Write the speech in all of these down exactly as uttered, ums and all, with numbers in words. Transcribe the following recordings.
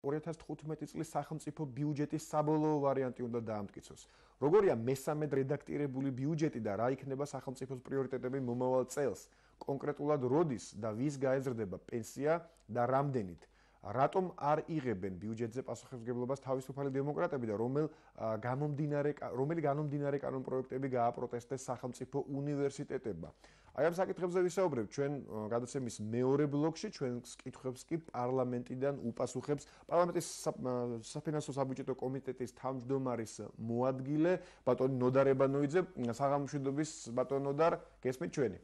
ორი ათას თხუთმეტი წლის სახელმწიფო ბიუჯეტის საბოლოო ვარიანტი უნდა დაამტკიცოს. როგორია მესამედ რედაქტირებული ბიუჯეტი და რა იქნება სახელმწიფოს პრიორიტეტები მომავალ წელს? კონკრეტულად როდის და ვის გაეზრდება პენსია და რამდენით? რატომ არ იღებენ ბიუჯეტზე პასუხისმგებლობას თავისუფალი დემოკრატები და რომელ განმომდინარე რომელი განმომდინარე კანონპროექტები გააპროტესტეს სახელმწიფო უნივერსიტეტებმა? აი ამ საკითხებზე ვისაუბრებთ ჩვენ გადაცემის მეორე ბლოკში, ჩვენს კითხვებს კი პარლამენტიდან უპასუხებს პარლამენტის საფინანსო საბიუჯეტო კომიტეტის თავმჯდომარის მოადგილე ბატონი ნოდარ ებანოიძე. საღამო მშვიდობის ბატონ ნოდარ, გესმით ჩვენი?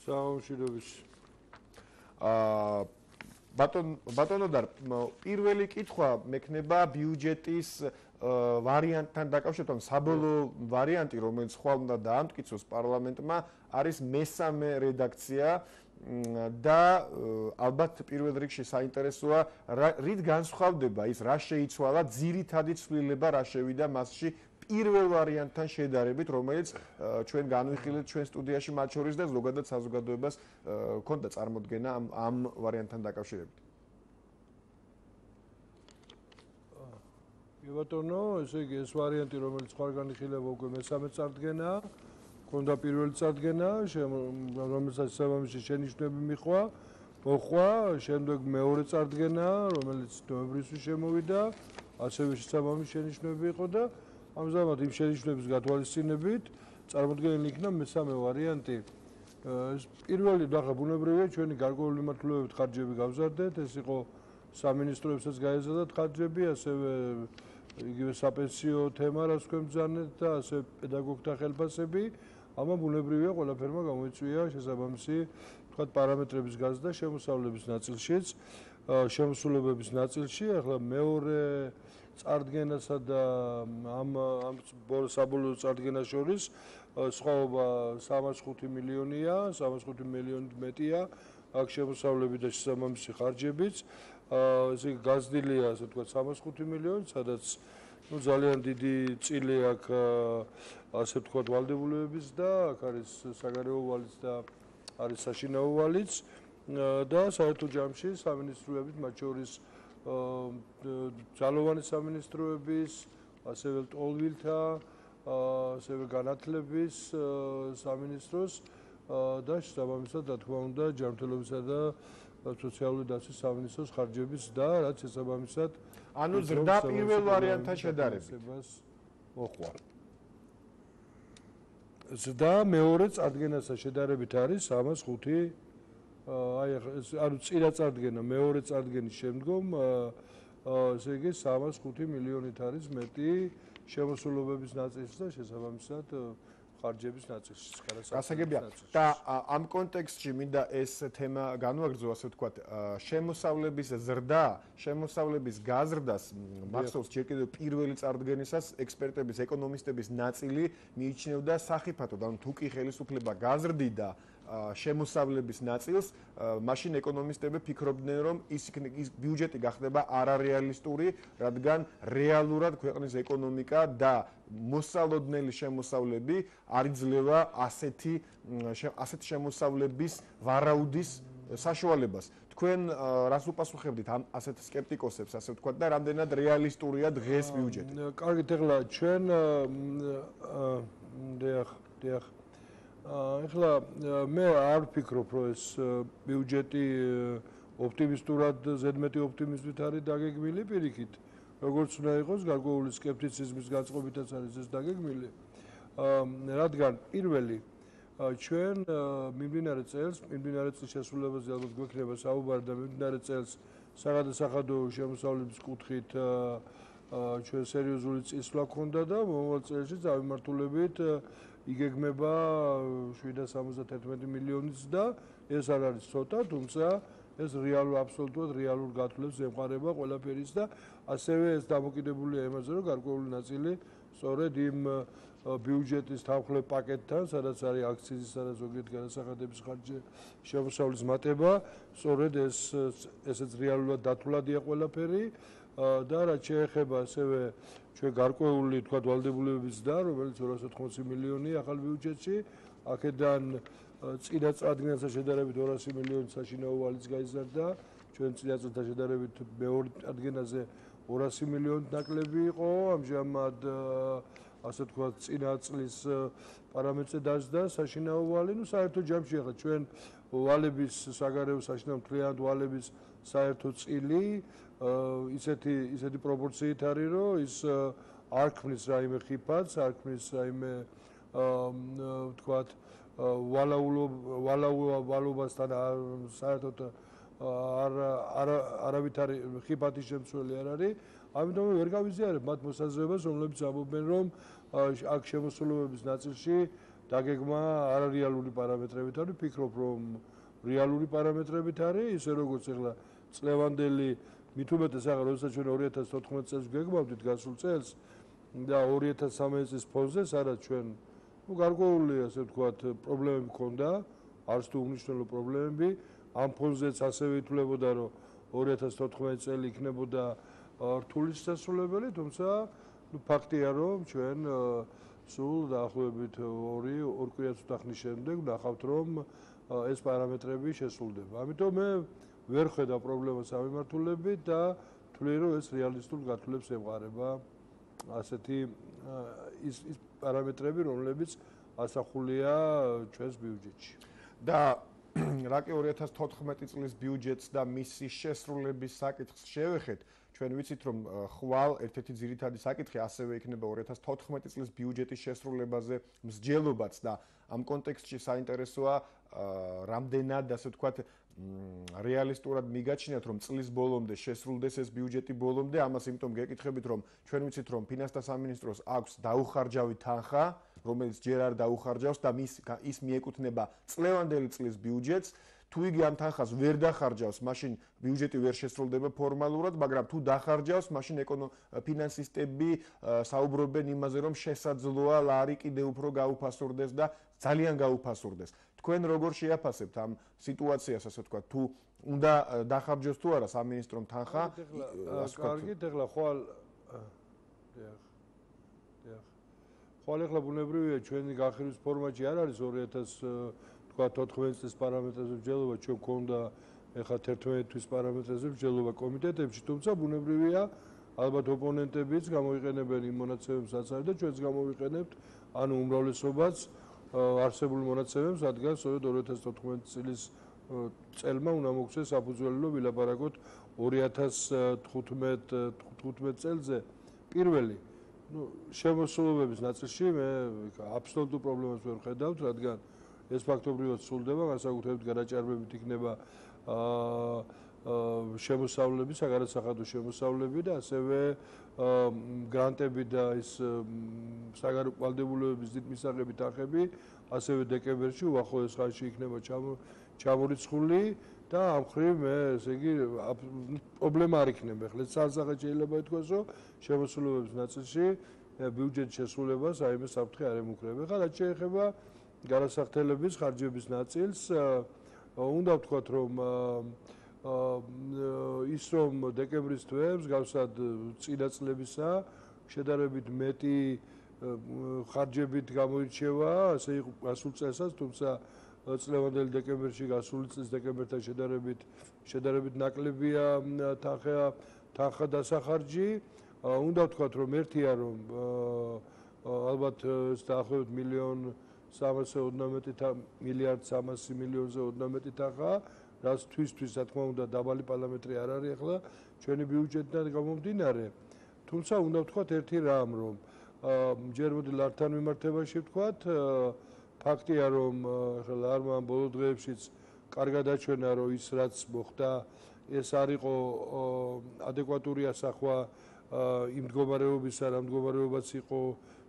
საღამო მშვიდობის. აა ბატონ ბატონოდარ, პირველი კითხვა მექნება ბიუჯეტის ვარიანტთან დაკავშირებით, საბოლოო ვარიანტი, რომელიც ხვალ უნდა დაამტკიცოს პარლამენტმა, არის მესამე რედაქცია და ალბათ პირველ რიგში საინტერესოა, რით განსხვავდება ის, რა შეიცვალა, ძირითადი ცვლილება რა შევიდა მასში პირველ ვარიანტთან შედარებით, რომელიც ჩვენ განვიხილეთ ჩვენ სტუდიაში მათ შორის და ზოგადად საზოგადოებას ჰქონდა წარმოდგენა ამ ამ ვარიანტთან დაკავშირებით. ბატონო, ესე იგი ეს ვარიანტი, რომელიც ხარ განიხილება უკვე მესამე წარდგენა, ჰქონდა პირველი წარდგენა, რომელსაც საბამისი შენიშვნები მიხვა, მოხვა, შემდეგ მეორე წარდგენა, რომელიც ნოემბრისთვის შემოვიდა, ასევე საბამისი შენიშვნები იყო და ამჟამად იმ შენიშვნების გათვალისწინებით წარმოდგენილი იქნა მესამე ვარიანტი. ეს პირველი ნახა ბუნებრივია ჩვენი გარკვეული მიმართულებებით ხარჯები გავზარდეთ, ეს იყო სამინისტროებსაც გაეზრდათ ხარჯები, ასევე იგივე საპენსიო თემა რაც თქვენ ბრძანეთ და ასევე პედაგოგთა ხელფასები, ამან ბუნებრივია ყველაფერმა გამოიწვია შესაბამისი თქვათ პარამეტრების გაზრდა შემოსავლების ნაწილშიც, შემოსულებების ნაწილში, ახლა მეორე წარდგენასა და ამ ამ საბოლოო წარდგენას შორის სხვაობა სამას ხუთი მილიონია, სამას ხუთი მილიონით მეტია აქ შემოსავლები და შესაბამისი ხარჯებიც. ესე იგი გაზრდილია, ასე ვთქვათ, სამას ხუთი მილიონი, სადაც ну ძალიან დიდი წილი აქ ასე ვთქვათ ვალდებულებების და აქ არის საგარეო ვალიც და არის საშინაო ვალიც და საერთო ჯამში სამინისტროებით მათ შორის ძალოვანი სამინისტროების, ასევე ტოლვილთა, ასევე განათლების სამინისტროს და შესაბამისად, რა თქმა უნდა, ჯანმრთელობისა და სოციალური დაცვის სამინისტროს ხარჯების და რაც შესაბამისად ანუ ზრდა პირველ ვარიანტთან შედარებით მოხვა. ზრდა მეორე წარდგენასთან შედარებით არის სამას ხუთი აი ანუ წინა წარდგენა მეორე წარდგენის შემდგომ ესე იგი სამას ხუთი მილიონით არის მეტი შემოსულობების ნაწილში და შესაბამისად ხარჯების ნაწილში. გასაგებია და ამ კონტექსტში მინდა ეს თემა განვაგრძო, ასე ვთქვათ, შემოსავლების ზრდა, შემოსავლების გაზრდას მახსოვს ჯერ კიდევ პირველი წარდგენისას ექსპერტების, ეკონომისტების ნაწილი მიიჩნევდა სახიფათოდ, ანუ თუ კი ხელისუფლება გაზრდიდა შემოსავლების ნაწილს, მაშინ ეკონომისტები ფიქრობდნენ, რომ ის ის ბიუჯეტი გახდება არარეალისტური, რადგან რეალურად ქვეყნის ეკონომიკა და მოსალოდნელი შემოსავლები არ იძლევა ასეთი ასეთი შემოსავლების ვარაუდის საშუალებას. თქვენ რას უპასუხებდით ამ ასეთ სკეპტიკოსებს, ასე ვთქვათ, და რამდენად რეალისტურია დღეს ბიუჯეტი? კარგით, ეხლა ჩვენ დიახ, დიახ ეხლა მე არ ვფიქრობ, რომ ეს ბიუჯეტი ოპტიმისტურად, ზედმეტი ოპტიმიზმით არის დაგეგმილი პირიქით. როგორც უნდა იყოს, გარკვეული სკეპტიციზმის განწყობითაც არის ეს დაგეგმილი. რადგან პირველი ჩვენ მიმდინარე წელს, მიმდინარე წლის შესრულებაზე ალბათ გვექნება საუბარი და მიმდინარე წელს საგადასახადო შემოსავლების კუთხით ჩვენ სერიოზული წინსვლა ჰქონდა და მომავალ წელში წავიმართულებით იგეგმება შვიდას სამოცდათერთმეტი მილიონიც და ეს არ არის ცოტა, თუმცა ეს რეალურ აბსოლუტურად რეალურ გათვლებს ემყარება ყველაფერის და ასევე ეს დამოკიდებულია იმაზე, რომ გარკვეული ნაწილი სწორედ იმ ბიუჯეტის თანხმლებ პაკეტთან, სადაც არის აქციზისა და ზოგიერთი განასახადების ხარჯი შემოსავლის მატება, სწორედ ეს ესეც რეალურად დათვლადია ყველაფერი და რაც შეეხება ასევე ჩვენ გარკვეული თქვა ვალდებულებების და რომელიც ორას ოთხმოცი მილიონი ახალ ბიუჯეტში, აქედან წინა წარდგენასთან შედარებით ორასი მილიონი საშინაო ვალიც გაიზარდა, ჩვენ წინა წელთან შედარებით მეორე წარდგენაზე ორასი მილიონი ნაკლები იყო, ამჟამად ასე თქვა წინა წლის პარამეტრზე დაждდა საშინაო ვალი, ну საერთო ჯამში ახლა ჩვენ ვალების საგარეო საშინაო მთლიანად ვალების საერთო წილი ისეთი ისეთი პროპორციით არის, რომ ის არ ქმნის რაიმე ხიფათს, არ ქმნის რაიმე ვთქვათ ვალაულობასთან საერთოდ არ არავითარი ხიფათის შემცველი არ არის. ამიტომ ვერ გავიზიარებ მათ მოსაზრებას, რომლებიც ამბობენ, რომ აქ შემოსულობების ნაწილში დაგეგმა არარეალური პარამეტრებით არის. ვფიქრობ, რომ რეალური პარამეტრებით არის, ისე როგორც ახლა წლევანდელი მით უმეტეს ახლა როდესაც ჩვენ ორი ათას თოთხმეტ წელს გეგმავდით გასულ წელს და ორი ათას სამეცი წლის ფონზე, სადაც ჩვენ ну გარკვეული ასე ვთქვათ პრობლემები ჰქონდა, არც თუ უნიშნელო პრობლემები, ამ ფონზეც ასევე ითვლებოდა, რომ ორი ათას თოთხმეტი წელი იქნებოდა რთული შესასრულებელი, თუმცა ну ფაქტია, რომ ჩვენ სულ დაახლოებით ორი ორ კვირას უთახნის შემდეგ ვნახავთ, რომ ეს პარამეტრები შესრულდება. ამიტომ მე ვერ ხედავ პრობლემას ამ მიმართულებით და ვთვლი, რომ ეს რეალისტურ გათვლებს ემყარება ასეთი ის ის პარამეტრები, რომლებიც ასახულია ჩვენს ბიუჯეტში. და რაკი ორი ათას თოთხმეტი წლის ბიუჯეტს და მისი შესრულების საკითხს შევეხეთ, ჩვენ ვიცით, რომ ხვალ ერთ-ერთი ძირითადი საკითხი ასევე იქნება ორი ათას თოთხმეტი წლის ბიუჯეტის შესრულებაზე მსჯელობაც და ამ კონტექსტში საინტერესოა რამდენად, ასე ვთქვათ, რეალისტურად მიგაჩნიათ, რომ წლის ბოლომდე შესრულდეს ეს ბიუჯეტი ბოლომდე, ამას იმიტომ გეკითხებით, რომ ჩვენ ვიცით, რომ ფინანსთა სამინისტროს აქვს დაუხარჯავი თანხა, რომელიც ჯერ არ დაუხარჯავს და მის ის მიეკუთვნება წლევანდელი წლის ბიუჯეტს. თუ იგი ამ თანხას ვერ დახარჯავს, მაშინ ბიუჯეტი ვერ შესრულდება ფორმალურად, მაგრამ თუ დახარჯავს, მაშინ ფინანსისტები საუბრობენ იმაზე, რომ შესაძლოა ლარი კიდევ უფრო გაუფასურდეს და ძალიან გაუფასურდეს. თქვენ როგორ შეაფასებთ ამ სიტუაციას, ასე ვთქვათ, თუ უნდა დახარჯოს თუ არა სამინისტრომ თანხა? კარგით, ეხლა ხვალ ხვალ ეხლა ბუნებრივია ჩვენი გახირვის ფორმატი არ არის ორი ათას თოთხმეტი წლის პარამეტრებზე მსჯელობა, ჩვენ გვქონდა ეხლა თერთმეტი თვის პარამეტრებზე მსჯელობა კომიტეტებში, თუმცა ბუნებრივია ალბათ ოპონენტებიც გამოიყენებენ იმ მონაცემებს, რაც არის და ჩვენც გამოვიყენებთ, ანუ უმრავლესობაც არსებული მონაცემებს, რადგან სწორედ ორი ათას თოთხმეტი წლის წელმა უნდა მოგვცეს საფუძველი, რომ ვილაპარაკოთ ორი ათას თხუთმეტ წელზე პირველი ну შემოსულობების ნაწილში მე აბსოლუტურ პრობლემას ვერ ვხედავთ, რადგან ეს ფაქტობრივად სრულდება, განსაკუთრებით გადაჭარბებით იქნება შემოსავლები, საგარეცხადო შემოსავლები და ასევე გრანტები და ის საგარეო ვალდებულებების დიდ მისაღები თანხები, ასევე დეკემბერში უახლოეს ხანში იქნება ჩამორიცხული და ამ მხრივ მე ესე იგი პრობლემა არ იქნება. ახლა სასახად შეიძლება ითქვას, რომ შემოსულობების ნაწილში ბიუჯეტის შესრულებას აიმე საფრთხე არ ემუქრება. ახლა რაც შეეხება გადასახდელების ხარჯების ნაწილს, უნდა ვთქვათ, რომ ის რომ დეკემბრის თვე მსგავსად წინა წლებისა შედარებით მეტი ხარჯებით გამოირჩევა, ასე იყო გასულ წელსაც, თუმცა წლევანდელი დეკემბერში გასული წლის დეკემბერთან შედარებით შედარებით ნაკლებია თანხა თანხა დასახარჯი. უნდა ვთქვათ, რომ ერთია, რომ ალბათ დაახლოებით მილიონ სამასზე ოდნავ მეტი მილიარდ სამასი მილიონზე ოდნავ მეტი თანხა, რაც თვისთვის, რა თქმა უნდა, დაბალი პარამეტრი არ არის ახლა ჩვენი ბიუჯეტიდან გამომდინარე. თუმცა უნდა ვთქვათ ერთი რამ, რომ ჯერ მოდი ლართან მიმართებაში ვთქვათ, ფაქტია, რომ ახლა ლარმა ბოლო დღეებშიც კარგად აჩვენა, რომ ის რაც მოხდა, ეს არ იყო ადეკვატური ასახვა იმ მდგომარეობისა, რა მდგომარეობაც იყო,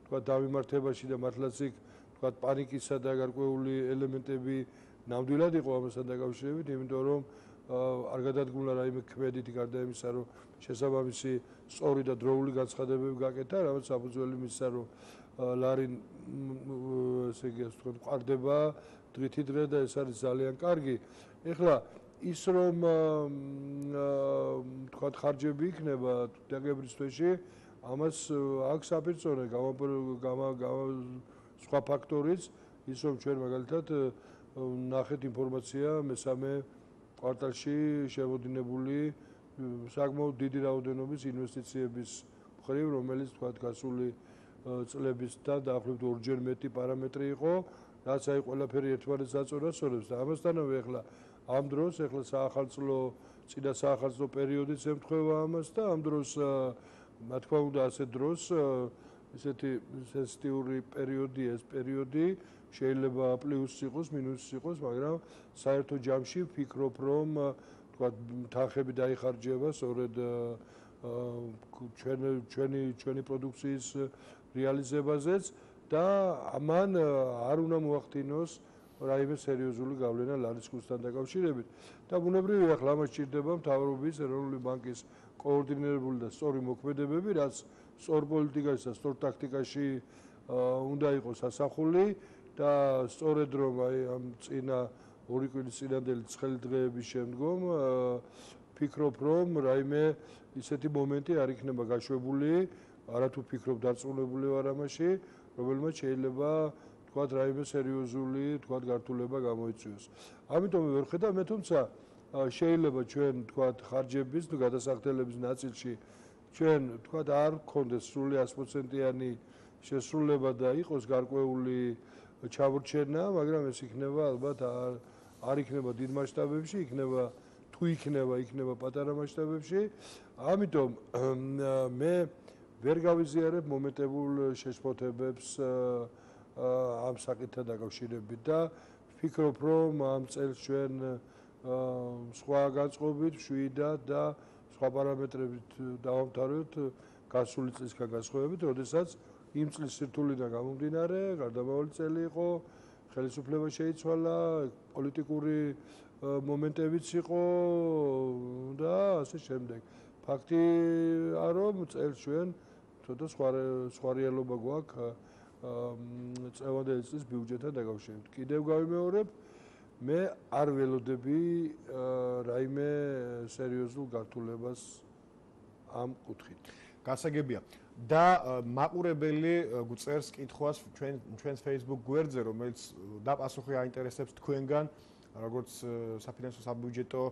თქვა დამიმართებაში და მართლაც იქ თქვა პანიკისა და გარკვეული ელემენტები ნამდვილად იყო ამასთან დაკავშირებით, იმიტომ რომ არ გადადგმულა რაიმე ქმედითი გარდა იმისა, რომ შესაბამისი სწორი და დროული განცხადებები გაკეთა, რაც საფუძველი მისცა, რომ ლარი ესე იგი ასე ვთქვათ, ყარდება დღითი დღე და ეს არის ძალიან კარგი. ეხლა ის რომ თქვათ ხარჯები იქნება დეკემბრის თვეში, ამას აქვს საპირწონე სხვა ფაქტორიც, ის რომ ჩვენ მაგალითად ნახეთ ინფორმაცია მესამე კვარტალში შემოდინებული საკმაოდ დიდი რაოდენობის ინვესტიციების მხრივ, რომელიც თქვა გასული წლების და დაახლოებით ორჯერ მეტი პარამეტრი იყო, რაც აი ყველაფერი ერთმანეთს აწორებს, სწორებს და ამასთანავე ახლა ამ დროს ახლა საახალწლო წინა საახალწლო პერიოდიც ემთხვევა ამას და ამ დროს რა თქმა უნდა ასე დროს ესეთი სენსიტიური პერიოდია ეს პერიოდი შეიძლება პლუსი იყოს, მინუსი იყოს, მაგრამ საერთო ჯამში ვფიქრობ, რომ თქვა თანხები დაიხარჯება სწორედ ჩვენი ჩვენი ჩვენი პროდუქციის რეალიზებაზეც და ამან არ უნდა მოახდინოს რაიმე სერიოზული გავლენა ლარის კურსთან დაკავშირებით და ბუნებრივია ახლა ამას სჭირდება მთავრობის ეროვნული ბანკის კოორდინირებული და სწორი მოქმედებები, რაც სწორ პოლიტიკაში და სწორ ტაქტიკაში უნდა იყოს ასახული და სწორედ რომ აი ამ წინა ორი კვირის წინანდელი ცხელი დღეების შემდგომ ვფიქრობ, რომ რაიმე ისეთი მომენტი არ იქნება გაშვებული, არათუ ვფიქრობ დარწმუნებული ვარ ამაში, რომელმაც შეიძლება თქვათ რაიმე სერიოზული თქვათ გართულება გამოიწვიოს. ამიტომ ვერ ხედავ მე თუმცა შეიძლება ჩვენ თქვათ ხარჯების თუ გადასახდელების ნაწილში ჩვენ თქვათ არ გქონდეს სრული ათი პროცენტიანი შესრულება და იყოს გარკვეული ჩამორჩენა, მაგრამ ეს იქნება ალბათ არ არ იქნება დიდ მასშტაბებში, იქნება თუ იქნება, იქნება პატარა მასშტაბებში. ამიტომ მე ვერ გავიზიარებ მომენტებულ შეშფოთებებს ამ საკითხთან დაკავშირებით და ვფიქრობ, რომ ამ წელს ჩვენ სხვა განწყობით, მშვიდად და სხვა პარამეტრებით დავამთავრებთ გასული წლისგან განსხვავებით, როდესაც იმ წლის სირთულიდან გამომდინარე, გარდამავალი წელი იყო, ხელისუფლება შეიცვალა, პოლიტიკური მომენტებიც იყო და ასე შემდეგ. ფაქტია, რომ წელს ჩვენ ცოტა სხვა სხვა რეალობა გვაქვს წლევანდელი წლის ბიუჯეტთან დაკავშირებით. კიდევ გავიმეორებ, მე არ ველოდები რაიმე სერიოზულ გართულებას ამ კუთხით. გასაგებია. და მაყურებელი გვწერს კითხვას ჩვენ ჩვენს Facebook გვერდზე, რომელიც დაპასუხი აინტერესებს თქვენგან, როგორც საფინანსო საბიუჯეტო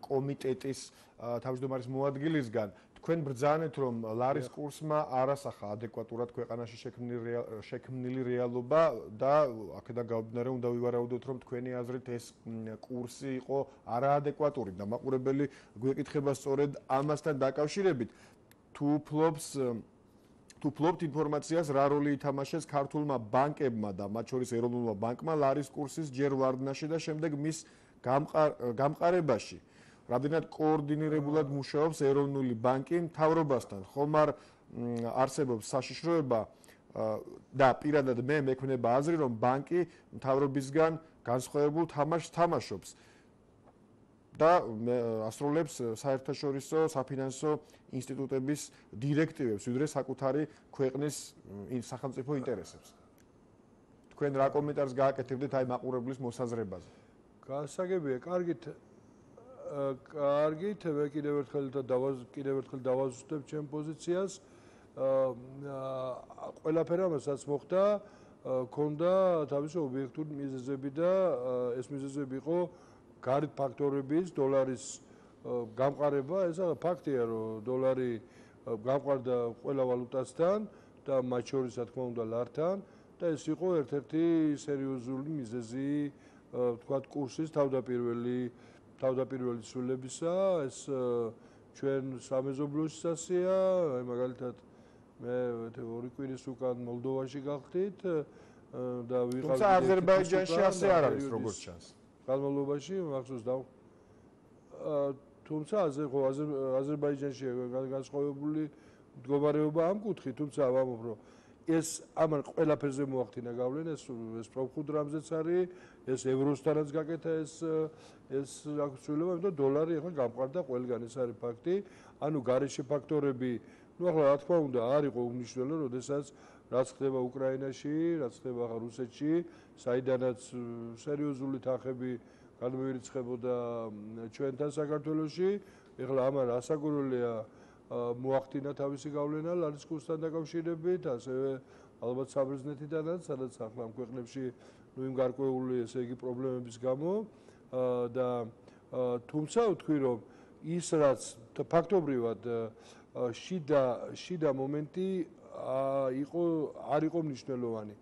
კომიტეტის თავმჯდომარის მოადგილისგან. თქვენ ბრძანეთ, რომ ლარის კურსმა არასახა ადეკვატურად ქვეყანაში შექმნილი რეალობა და აქედან გამომდინარე უნდა ვივარაუდოთ, რომ თქვენი აზრით ეს კურსი იყო არაადეკვატური და მაყურებელი გვეკითხება სწორედ ამასთან დაკავშირებით. თუ ფლობს თუ ფლობთ ინფორმაციას, რა როლი ითამაშეს ქართულმა ბანკებმა და მათ შორის ეროვნულმა ბანკმა ლარის კურსის ჯერ ვარდნაში და შემდეგ მის გამყარებაში. რამდენად კოორდინირებულად მუშაობს ეროვნული ბანკი მთავრობასთან, ხომ არ არსებობს საშიშროება და პირადად მე მექმნება აზრი, რომ ბანკი მთავრობისგან განსხვავებულ თამაშს თამაშობს და ასრულებს საერთაშორისო საფინანსო ინსტიტუტების დირექტივებს, ვიდრე საკუთარი ქვეყნის სახელმწიფო ინტერესებს. თქვენ რა კომენტარს გააკეთებდეთ აი მაყურებლის მოსაზრებაზე? გასაგებია, კარგით კარგით, მე კიდევ ერთხელ კიდევ ერთხელ დავაზუსტებ ჩემ პოზიციას. ყველაფერ ამასაც მოხდა, ქონდა თავისი ობიექტური მიზეზები და ეს მიზეზები იყო გარეთ ფაქტორების, დოლარის გამყარება, ეს ფაქტია, რომ დოლარი გამყარდა ყველა ვალუტასთან და მათ შორის, რა თქმა უნდა, ლართან და ეს იყო ერთ-ერთი სერიოზული მიზეზი, ვთქვათ, კურსის თავდაპირველი თავდაპირველი ცვლილებისა, ეს ჩვენ სამეზობლოში სასია, აი მაგალითად მე ორი კვირის უკან მოლდოვაში გავხდით და ვიყავ თუმცა აზერბაიჯანში ასე არ არის, როგორც ჩანს. განმავლობაში მახსოვს და თუმცა აზერბაიჯანში განსხვავებული მდგომარეობა ამ კუთხით, თუმცა ვამბობ, რომ ეს ამან ყველაფერზე მოახდინა გავლენა, ეს ეს პროფხუდ რამზეც არის, ეს ევროსთანაც გაკეთა ეს ეს აქცულება, იმიტომ დოლარი ახლა გამყარდა ყველგან, ეს არის ფაქტი. ანუ გარეშე ფაქტორები, ну ახლა რა თქმა უნდა, არ იყო უმნიშვნელო, როდესაც რაც ხდება უკრაინაში, რაც ხდება ახლა რუსეთში, საიდანაც სერიოზული თანხები განმოირიცხებოდა ჩვენთან საქართველოში, ახლა ამან ასაგურელია მოახდინა თავისი გავლენა ლარის კურსთან დაკავშირებით, ასევე ალბათ საბერძნეთიდანაც, სადაც ახლა ამ ქვეყნებში ნუ იმ გარკვეული ესე იგი პრობლემების გამო და თუმცა ვთქვი რომ ის რაც ფაქტობრივად შიდა შიდა მომენტი იყო არ იყო მნიშვნელოვანი.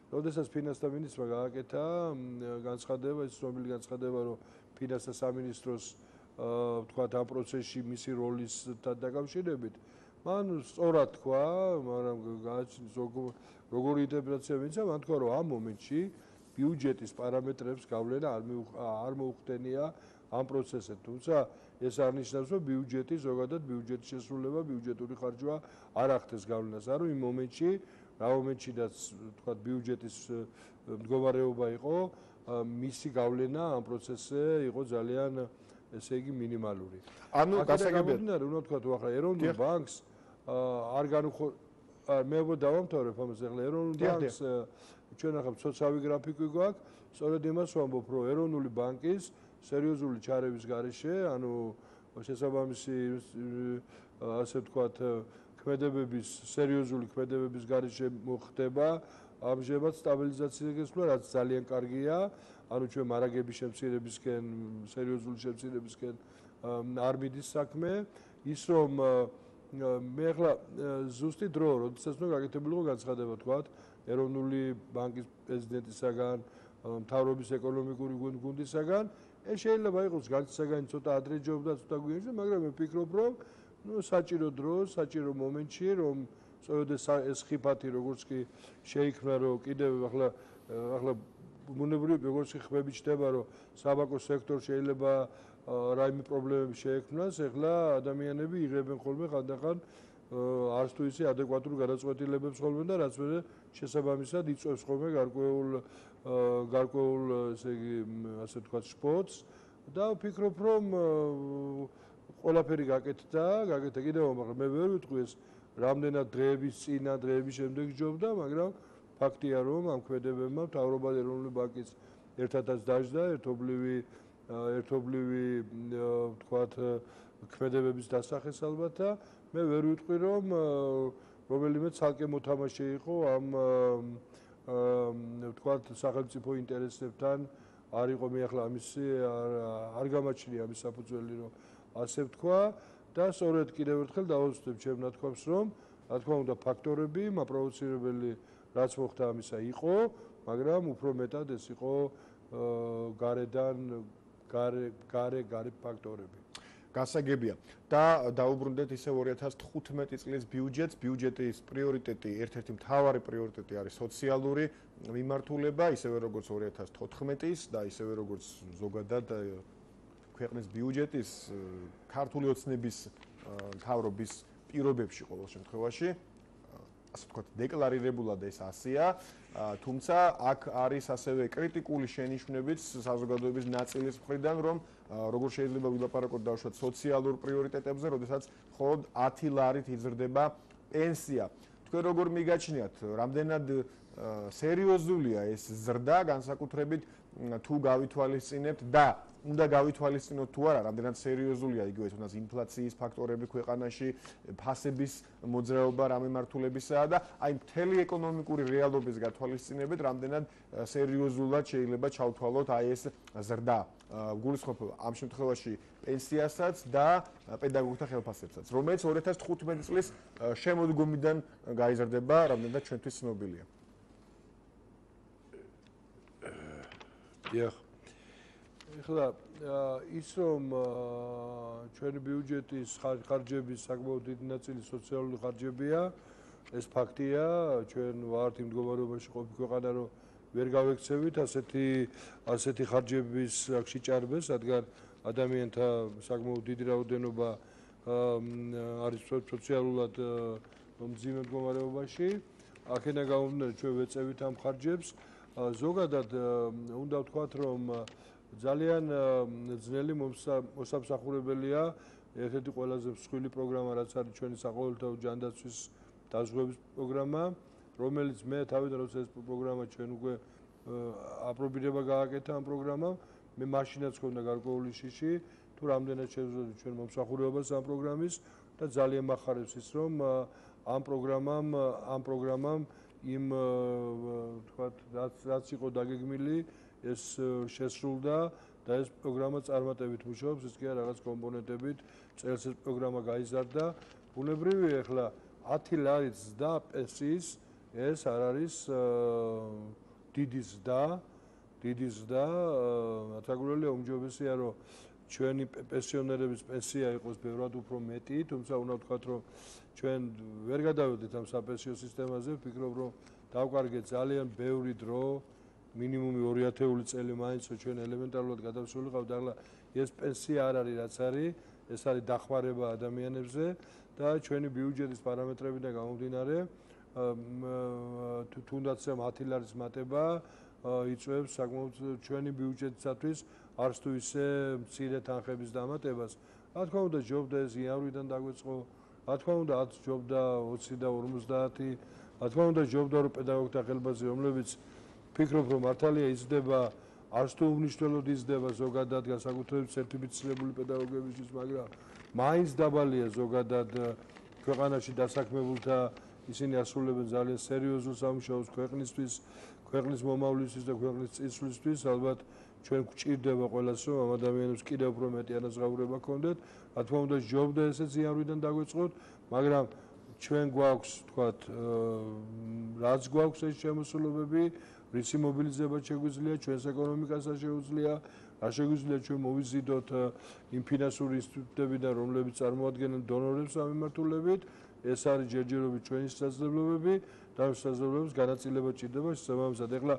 როდესაც ფინანსთა მინისტრმა გააკეთა განცხადება, ის ცნობილი განცხადება, რომ ფინანსთა სამინისტროს ვთქვათ ამ პროცესში მისი როლისთან დაკავშირებით, მან სწორად თქვა, მაგრამ გააჩნია როგორი ინტერპრეტაცია მისცა, მან თქვა, რომ ამ მომენტში ბიუჯეტის პარამეტრებს გავლენა არ მოუხდენია ამ პროცესზე. თუმცა ეს არ ნიშნავს, რომ ბიუჯეტი ზოგადად ბიუჯეტის შესრულება, ბიუჯეტური ხარჯვა არ ახდენს გავლენას. არა, იმ მომენტში, რა მომენტშიდაც თქვა ბიუჯეტის მდგომარეობა იყო, მისი გავლენა ამ პროცესზე იყო ძალიან ესე იგი მინიმალური. ანუ გასაგებია, უნდა თქვა თუ ახლა ეროვნულ ბანკს არ განუხო მე დავამთავრებ ამას ახლა ეროვნულ ბანკს ჩვენ ახლა სოციალური გრაფიკი გვაქვს, სწორედ იმას ვამბობ, რომ ეროვნული ბანკის სერიოზული ჩარევის გარეშე, ანუ შესაბამისი ასე ვთქვათ ქმედებების სერიოზული ქმედებების გარეშე მოხდება ამჟამად სტაბილიზაციის გასვლა, რაც ძალიან კარგია. ანუ ჩვენ მარაგების შემცირებისკენ, სერიოზული შემცირებისკენ არ მიდის საქმე, ის რომ მე ახლა ზუსტი დრო, როდესაც უნდა გაკეთებულიყო განცხადება, თქვათ, ეროვნული ბანკის პრეზიდენტისაგან, მთავრობის ეკონომიკური გუნდისაგან, ეს შეიძლება იყოს განცდისაგანი ცოტა ადრე ჯობდა, ცოტა გვიანში, მაგრამ მე ვფიქრობ, რომ ნუ საჭირო დრო, საჭირო მომენტში, რომ სწორედ ეს ხიფათი როგორც კი შეიქმნა, რომ კიდევ ახლა ახლა ბუნებრივი როგორც კი ხმები ჩდება, რომ საბანკო სექტორ შეიძლება რაიმე პრობლემები შეექმნას, ახლა ადამიანები იღებენ ხოლმე ხანდახან არც თუ ისე ადეკვატურ გადაწყვეტილებებს ხოლმე და რაც მე შესაბამისად იწვევს ხოლმე გარკვეულ გარკვეულ ესე იგი ასე ვთქვათ სპორტს და ვფიქრობ რომ ყველაფერი გაკეთდა, გაკეთდა კიდევ მაგრამ მე ვერ ვიტყვი ეს რამდენად დღეების წინა დღეების შემდეგ ჯობდა, მაგრამ ფაქტია რომ ამ ქმედებებმა მთავრობა ეროვნული ბანკის ერთადაც დაждდა ერთობლივი ერთობლივი ვთქვათ ქმედებების დასახეს ალბათ და მე ვერ ვიტყვი რომ რომელიმე ცალკე მოთამაშე იყო ამ ვთქვათ სახელმწიფო ინტერესებთან არ იყო მე ახლა ამისი არ გამაჩნია ამის საფუძველი რომ ასე ვთქვა და სწორედ კიდევ ერთხელ დავუსვებ ჩემ ნათქვამს რომ რა თქმა უნდა ფაქტორები მაპროვოცირებელი რაც მოხდა ამისა იყო მაგრამ უფრო მეტად ეს იყო გარედან გარე გარე გარე ფაქტორები გასაგებია და დაუბრუნდეთ ისევ ორი ათას თხუთმეტი წლის ბიუჯეტს ბიუჯეტის პრიორიტეტი ერთ-ერთი მთავარი პრიორიტეტი არის სოციალური მიმართულება ისევე როგორც ორი ათას თოთხმეტის და ისევე როგორც ზოგადად ქვეყნის ბიუჯეტის ქართული ოცნების მთავრობის პირობებში ყოველ შემთხვევაში ასე ვთქვათ დეკლარირებულად ეს ასეა თუმცა აქ არის ასევე კრიტიკული შენიშვნებიც საზოგადოების ნაწილის მხრიდან რომ როგორ შეიძლება ვილაპარაკოთ დავუშვათ სოციალურ პრიორიტეტებზე როდესაც მხოლოდ ათი ლარით იზრდება პენსია თქვენ როგორ მიგაჩნიათ რამდენად სერიოზულია ეს ზრდა განსაკუთრებით თუ გავითვალისწინებთ და უნდა გავითვალისწინოთ თუ არა რამდენად სერიოზულია იგივე თუნდაც ინფლაციის ფაქტორები ქვეყანაში ფასების მოძრაობა რა მიმართულებისაა და აი მთელი ეკონომიკური რეალობის გათვალისწინებით რამდენად სერიოზულად შეიძლება ჩავთვალოთ აი ეს ზრდა გულისხმობ ამ შემთხვევაში პენსიასაც და პედაგოგთა ხელფასებსაც რომელიც ორი ათას თხუთმეტი წლის შემოდგომიდან გაიზრდება რამდენად ჩვენთვის ცნობილია დიახ ეხლა ის რომ ჩვენი ბიუჯეტის ხარჯების საკმაოდ დიდი ნაწილი სოციალური ხარჯებია ეს ფაქტია ჩვენ ვართ იმ მდგომარეობაში ყოფილი ქვეყანა რომ ვერ გავექცევით ასეთი ასეთი ხარჯების შეჭარბეს რადგან ადამიანთა საკმაოდ დიდი რაოდენობა არის სოციალურად მძიმე მდგომარეობაში აქედან გამომდინარე ჩვენ ვეწევით ამ ხარჯებს ზოგადად უნდა ვთქვათ რომ ძალიან ძნელი მოსამსახურებელია ერთ-ერთი ყველაზე მსხვილი პროგრამა რაც არის ჩვენი საყოველთაო ჯანდაცვის დაზღვევის პროგრამა რომელიც მე თავიდან როცა ეს პროგრამა ჩვენ უკვე აპრობირება გააკეთა ამ პროგრამამ მე მაშინაც ქონდა გარკვეული შიში თუ რამდენად შევძლებთ ჩვენ მომსახურებას ამ პროგრამის და ძალიან მახარებს ის რომ ამ პროგრამამ ამ პროგრამამ იმ ვთქვათ რაც რაც იყო დაგეგმილი ეს შესრულდა და ეს პროგრამა წარმატებით მუშაობს, ის კი არა რაღაც კომპონენტებით, წელს ეს პროგრამა გაიზარდა. ბუნებრივია, ახლა ათი ლარით ზრდა პენსიის, ეს არ არის დიდი ზრდა, დიდი ზრდა, რათაგურელია უმჯობესია, რომ ჩვენი პენსიონერების პენსია იყოს ბევრად უფრო მეტი, თუმცა უნდა ვთქვათ, რომ ჩვენ ვერ გადავედით ამ საპენსიო სისტემაზე, ვფიქრობ, რომ დავკარგეთ ძალიან ბევრი დრო, მინიმუმი ორი ათეული წელი მაინც ჩვენ ელემენტარულად გადავსულიყავთ და ახლა ეს პენსია არ არის რაც არის, ეს არის დახმარება ადამიანებზე და ჩვენი ბიუჯეტის პარამეტრებიდან გამომდინარე, თუნდაც ამ ათი ლარის მატება იწვევს საკმაოდ ჩვენი ბიუჯეტისათვის არც თუ ისე მცირე თანხების დამატებას. რა თქმა უნდა, ჯობდა ეს იანვრიდან დაგვეწყო, რა თქმა უნდა, ათ ჯობდა ოცი და ორმოცდაათი, რა თქმა უნდა, ჯობდა რომ პედაგოგთა ხელბაძე, რომლებიც ფიქრობ, რომ მართალია იზრდება, არც თუ უნიშნელოდ იზრდება ზოგადად განსაკუთრებით სერტიფიცირებული პედაგოგებისთვის, მაგრამ მაინც დაბალია ზოგადად ქვეყანაში დასაქმებულთა, ისინი ასრულებენ ძალიან სერიოზულ სამუშაოს ქვეყნისთვის, ქვეყნის მომავლისთვის და ქვეყნის წინსვლისთვის, ალბათ ჩვენ გვჭირდება ყველას, რომ ამ ადამიანებს კიდევ უფრო მეტი ანაზღაურება ჰქონდეთ. რა თქმა უნდა, ჯობდა ესეც იანვრიდან დაგვეწყოთ, მაგრამ ჩვენ გვაქვს, თქვათ, რაც გვაქვს ეს შემოსულობები, რისი მობილიზება შეგვიძლია, ჩვენს ეკონომიკასაც შეუძლია, რა შეგვიძლია ჩვენ მოვიზიდოთ იმ ფინანსური ინსტიტუტებიდან, რომლებიც წარმოადგენენ დონორებს ამ მიმართულებით, ეს არის ჯერჯერობით ჩვენი შესაძლებლობები და ამ შესაძლებლობებს განაწილება ჭირდება შესაბამისად. ეხლა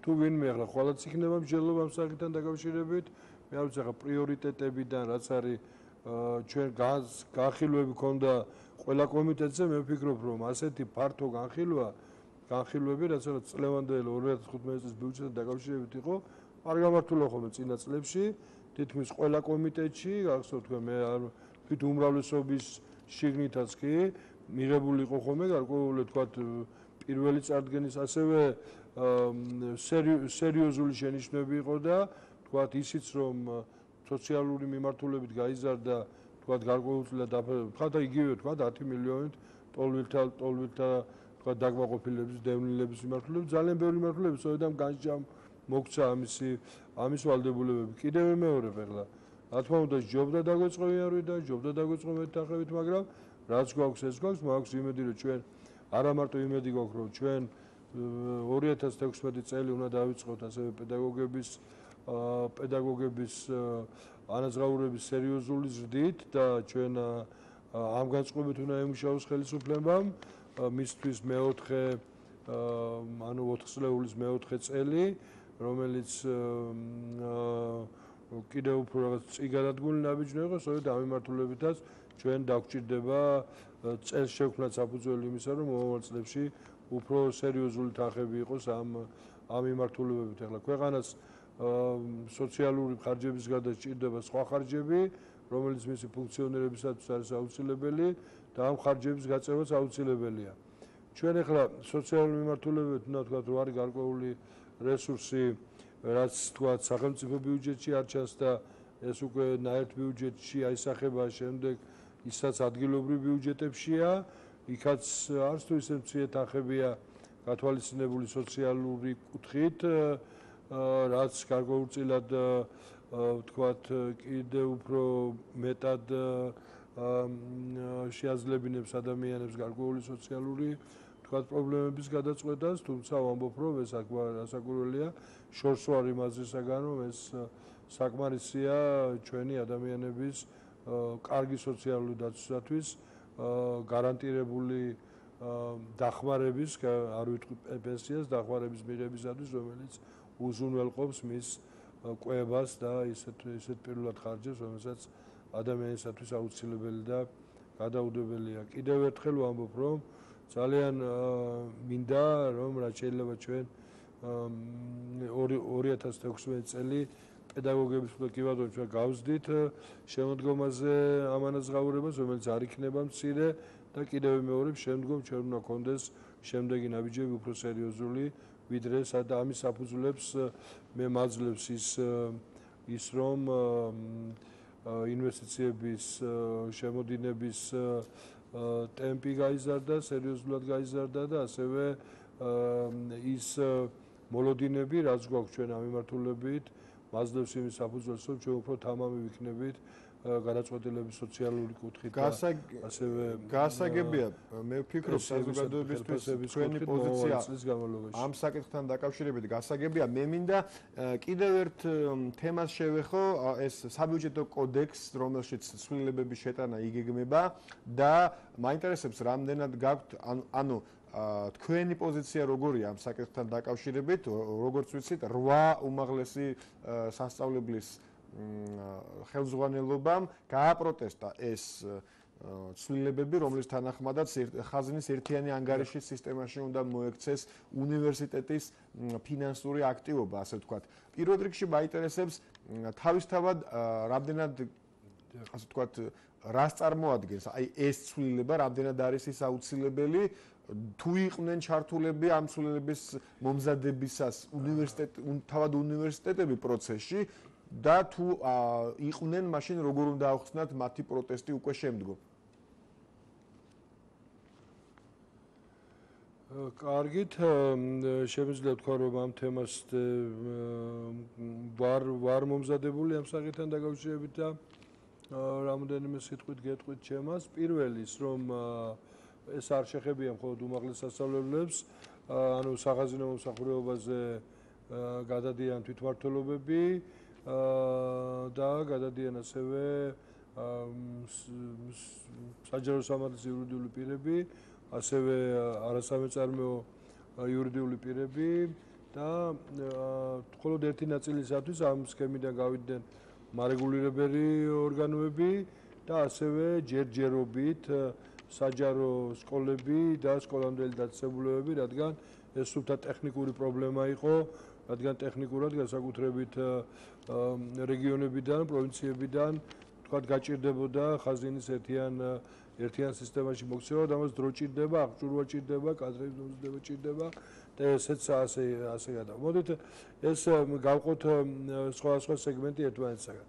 თუ ვინმე ახლა ხვალაც იქნება მსჯელობა ამ საკითხთან დაკავშირებით, მე არ ვიცი ახლა პრიორიტეტებიდან რაც არის ჩვენ განხილვები ქონდა ყველა კომიტეტზე, მე ვფიქრობ, რომ ასეთი ფართო განხილვა, განხილვები, რაც არის წლევანდელი ორი ათას თხუთმეტი წლის ბიუჯეტთან დაკავშირებით იყო, არ გამართულა ხოლმე წინა წლებში, თითქმის ყველა კომიტეტში, გახსოვთ თქვენ მე არ თვით უმრავლესობის შიგნითაც კი მიღებული იყო ხოლმე გარკვეული თქვათ პირველი წარდგენის ასევე სერიოზული შენიშვნები იყო და თქვათ ისიც რომ სოციალური მიმართულებით გაიზარდა თქვათ გარკვეულწილად თქვათ იგივე თქვათ ათი მილიონით ტოლვილთა ტოლვილთა თქვათ დაკმაყოფილების დევნილების მიმართულებით ძალიან ბევრი მიმართულებით სწორედ ამ განსჯამ მოგცა ამისი ამის ვალდებულებები კიდევ მეორებ ახლა რა თქმა უნდა ჯობდა დაგვეწყო იარვი და ჯობდა დაგვეწყო მეტახევით მაგრამ რაც გვაქვს ეს გვაქვს მაქვს იმედი რომ ჩვენ არა მარტო იმედი გვაქვს რომ ჩვენ ორი ათას თექვსმეტი წელი უნდა დავიწყოთ ასევე პედაგოგების პედაგოგების ანაზღაურების სერიოზული ზრდით და ჩვენ ამ განწყობით უნდა ემუშაოს ხელისუფლებამ მისთვის მეოთხე ანუ ოთხ წლეულის მეოთხე წელი რომელიც კიდევ უფრო რაღაც წიგადადგმული ნაბიჯი იყო სწორედ ამ მიმართულებითაც ჩვენ დაგვჭირდება წელს შევქმნათ საფუძველი იმისა რომ მომავალ წლებში უფრო სერიოზული თანხები იყოს ამ ამ მიმართულებებით ახლა ქვეყანას სოციალური ხარჯების გარდა სჭირდება სხვა ხარჯები რომელიც მისი ფუნქციონირებისათვის არის აუცილებელი და ამ ხარჯების გაწევაც აუცილებელია ჩვენ ახლა სოციალური მიმართულებებით უნდა ვთქვათ რომ არის გარკვეული რესურსი რაც თქვათ სახელმწიფო ბიუჯეტში არ ჩანს და ეს უკვე ნაერთ ბიუჯეტში აისახება შემდეგ ისაც ადგილობრივ ბიუჯეტებშია იქაც არც თუ ისე მცირე თანხებია გათვალისწინებული სოციალური კუთხით რაც გარკვეულწილად ვთქვათ კიდევ უფრო მეტად შეაძლებინებს ადამიანებს გარკვეული სოციალური თქვათ პრობლემების გადაწყვეტას თუმცა ვამბობ რომ ეს ასაკურველია შორს ვარ იმაზისაგან რომ ეს საკმარისია ჩვენი ადამიანების კარგი სოციალური დაცვისათვის გარანტირებული დახმარების არ ვიტყვი პენსიას დახმარების მიღებისათვის რომელიც უზრუნველყოფს მის კვებას და ისეთ ისეთ პირველად ხარჯებს რომელსაც ადამიანისათვის აუცილებელი და გადაუდებელია კიდევ ერთხელ ვამბობ რომ ძალიან მინდა რომ რაც შეიძლება ჩვენ ორი ათას თექვსმეტი წელი პედაგოგების პლატფორმაზე ჩვენ გავზდით შემოდგომაზე ამ ანაზღაურებას რომელიც არ იქნება მცირე და კიდევ მეორე შემდგომ ჩვენ უნდა გქონდეს შემდეგი ნაბიჯები უფრო სერიოზული ვიდრე სადა ამის საფუძვლებს მე მაძლევს ის ის რომ ინვესტიციების შემოდინების ტემპი გაიზარდა სერიოზულად გაიზარდა და ასევე ის მოლოდინები რაც გვაქვს ჩვენ ამ მიმართულებით მაძლევს იმის საფუძველს, რომ ჩვენ უფრო თამამი ვიქნებით გადაწყვეტილების სოციალური კუთხით და ასევე გასაგებია მე ვფიქრობ საზოგადოებისთვის თქვენი პოზიცია ამ საკითხთან დაკავშირებით გასაგებია მე მინდა კიდევ ერთ თემას შევეხო ეს საბიუჯეტო კოდექს რომელშიც ცვლილებების შეტანა იგეგმება და მაინტერესებს რამდენად გაქვთ ანუ თქვენი პოზიცია როგორია ამ საკითხთან დაკავშირებით როგორც ვიცით რვა უმაღლესი სასწავლებლის ხელმძღვანელობამ გააპროტესტა ეს ცვლილებები, რომლის თანახმადაც ხაზინის ერთიანი ანგარიშის სისტემაში უნდა მოექცეს უნივერსიტეტის ფინანსური აქტივობა, ასე ვთქვათ. პირველ რიგში მაინტერესებს თავისთავად რამდენად ასე ვთქვათ, რას წარმოადგენს აი ეს ცვლილება, რამდენად არის ის აუცილებელი თუ იყვნენ ჩართულები ამ ცვლილების მომზადებისას უნივერსიტეტ თავად უნივერსიტეტები პროცესში და თუ იყვნენ მაშინ როგორ უნდა ახსნათ მათი პროტესტი უკვე შემდგომ. კარგით, შემიძლია თქვა რომ ამ თემას ვარ ვარ მომზადებული ამ საკითხთან დაკავშირებით და რამოდენიმე სიტყვით გეტყვით ჩემას. პირველი ის რომ ეს არ შეხებია მხოლოდ უმაღლეს სასწავლებლებს, ანუ სახაზინო მომსახურებაზე გადადიან თვითმმართველობები და გადადიან ასევე საჯარო სამართლის იურიდიული პირები, ასევე არასამეწარმეო იურიდიული პირები და მხოლოდ ერთი ნაწილისათვის ამ სქემიდან გავიდნენ მარეგულირებელი ორგანოები და ასევე ჯერჯერობით საჯარო სკოლები და სკოლამდელი დაწესებულებები, რადგან ეს სულთა ტექნიკური პრობლემა იყო, რადგან ტექნიკურად განსაკუთრებით რეგიონებიდან, პროვინციებიდან თქვათ გაჭირდებოდა ხაზინის ერთიან ერთიან სისტემაში მოქცევა და ამას დრო ჭირდება, აღჭურვა ჭირდება, კადრების მომზადება ჭირდება და ესეც ასე ასე გადა. მოდით ეს გავყოთ სხვადასხვა სეგმენტი ერთმანეთისაგან.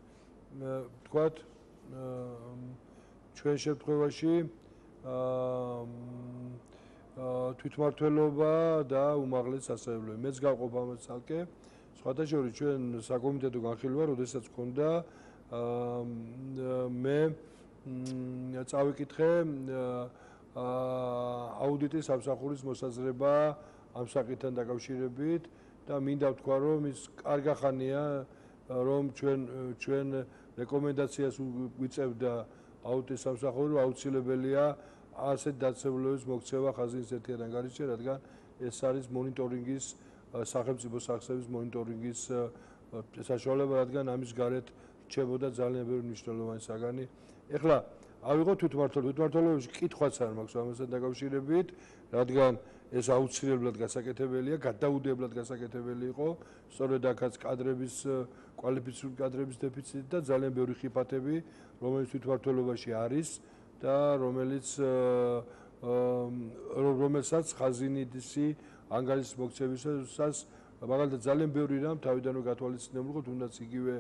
თქვათ ჩვენ შემთხვევაში თვითმმართველობა და უმაღლესი სასწავლებელი. მეც გავყოფ ამას ცალკე. სხვათა შორის ჩვენ საკომიტეტო განხილვა, როდესაც გქონდა მე წავიკითხე აუდიტის სამსახურის მოსაზრება ამ საკითხთან დაკავშირებით და მინდა ვთქვა, რომ ის კარგი ხანია, რომ ჩვენ ჩვენ რეკომენდაციას ვიწევდა აუდიტის სამსახური, აუცილებელია ასეთ დაწესებულებების მოქცევა ხაზინის ერთიან ანგარიშში, რადგან ეს არის მონიტორინგის სახელმწიფო სახსების მონიტორინგის საშუალება, რადგან ამის გარეთ რჩებოდა ძალიან ბევრი მნიშვნელოვანი საგანი. ეხლა ავიღოთ თვითმმართველობა, თვითმმართველობაში კითხვაც არ მაქვს ამასთან დაკავშირებით, რადგან ეს აუცილებლად გასაკეთებელია, გადაუდებლად გასაკეთებელი იყო, სწორედ აქაც კადრების კვალიფიციური კადრების დეფიციტი და ძალიან ბევრი ხიფათები, რომელიც თვითმმართველობაში არის და რომელიც რომელსაც ხაზინიდისი ანგარიშის მოქცევისას მაგალითად ძალიან ბევრი რამ თავიდანვე გათვალისწინებულიყო, თუნდაც იგივე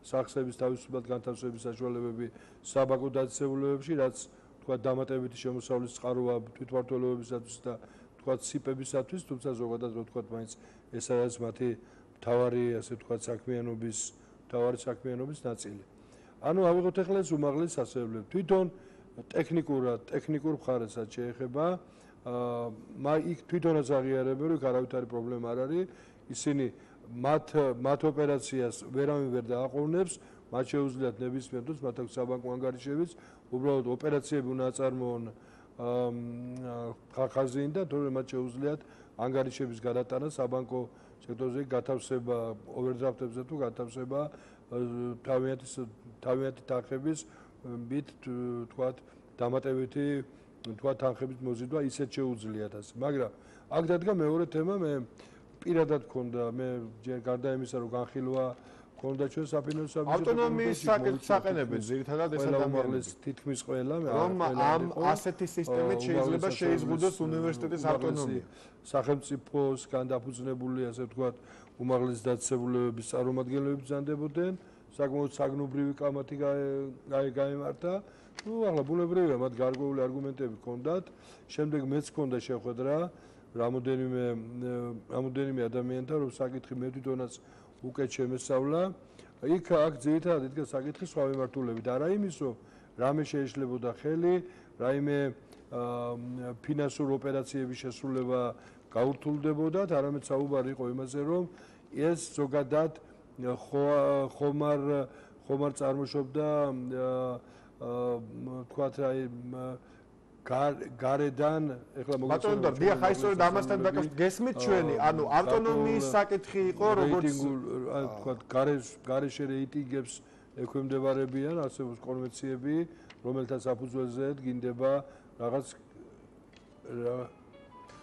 სახსების თავისუფლად განთავსების საშუალებები საბაკო დაწესებულებებში, რაც თქვა დამატებითი შემოსავლის წყაროა თვითმმართველობებისათვის და თქვა სიპებისათვის, თუმცა ზოგადად რო თქვა მაინც ეს არის მათი მთავარი ასე თქვა საქმიანობის მთავარი საქმიანობის ნაწილი. ანუ ავიღოთ ახლა ეს უმაღლესი სასწავლებლები. თვითონ ტექნიკურად, ტექნიკურ მხარესაც შეეხება, აა იქ თვითონაც აღიარებენ, რომ არავით არის პრობლემა არ არის, ისინი მათ მათ ოპერაციას ვერავინ ვერ დააყოვნებს, მათ შეუძლიათ ნებისმიერ დროს მათ აქვს საბანკო ანგარიშებიც, უბრალოდ ოპერაციები უნდა აწარმოონ ხაზინი და თორემ მათ შეუძლიათ ანგარიშების გადატანა საბანკო სექტორზე, გათავსება ოვერდრაფტებზე თუ გათავსება თავიანთი თავიანთი თანხების მით თქვათ დამატებითი თქვათ თანხების მოზიდვა ისეთ შეუძლიათ ასე. მაგრამ აქ დადგა მეორე თემა, მე პირადად მქონდა მე გარდა იმისა, რომ განხილვა მქონდა ჩვენ საფინანსო საბჭოს ავტონომიის საკითხს აყენებენ ძირითადად ეს ადამიანები თითქმის ყველა რომ ამ ასეთი სისტემით შეიძლება შეიზღუდოს უნივერსიტეტის ავტონომია. სახელმწიფოსგან დაფუძნებული ასე ვთქვათ უმაღლესი დაწესებულებების წარმომადგენლები ბრძანდებოდნენ, საკმაოდ საგნობრივი კამათი გაიმართა. ნუ ახლა ბუნებრივია, მათ გარკვეული არგუმენტები ჰქონდათ. შემდეგ მეც ჰქონდა შეხვედრა რამოდენიმე რამოდენიმე ადამიანთან, რომ საკითხი მე თვითონაც უკეთ შემესწავლა იქ აქ ძირითადად იდგა საკითხი სხვა მიმართულებით, არა იმის, რომ რამე შეეშლებოდა ხელი, რაიმე ფინანსურ ოპერაციების შესრულება გაურთულდებოდა, არამედ საუბარი იყო იმაზე, რომ ეს ზოგადად ხომარ ხომარ წარმოშობდა თქვათ აი გარედან ეხლა მოგწონთ და დიახ აი სწორედ ამასთან დაკავშირებით გესმით ჩვენი ანუ ავტონომიის საკითხი იყო როგორც თქვათ გარეშე რეიტინგებს ექვემდებარებიან არსებობს კონვენციები რომელთა საფუძველზეც გინდება რაღაც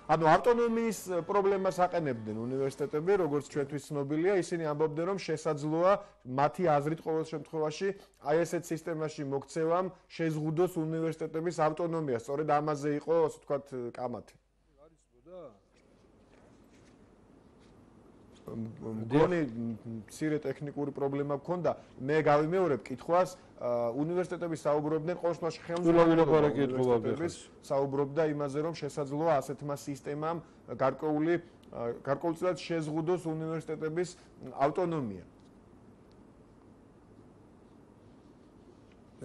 ანუ ავტონომიის პრობლემას აყენებდნენ უნივერსიტეტები, როგორც ჩვენთვის ცნობილია, ისინი ამბობდნენ, რომ შესაძლოა მათი აზრით ყოველ შემთხვევაში აი ესეთ სისტემაში მოქცევამ შეზღუდოს უნივერსიტეტების ავტონომია. სწორედ ამაზე იყო, ასე ვთქვათ, კამათი. მგონი მცირე ტექნიკური პრობლემა გქონდა. მე გავიმეორებ კითხვას, უნივერსიტეტები საუბრობდნენ ყოველ შემთხვევაში ხელმძღვანელობის საუბრობდა იმაზე, რომ შესაძლოა ასეთმა სისტემამ გარკვეული გარკვეულწილად შეზღუდოს უნივერსიტეტების ავტონომია.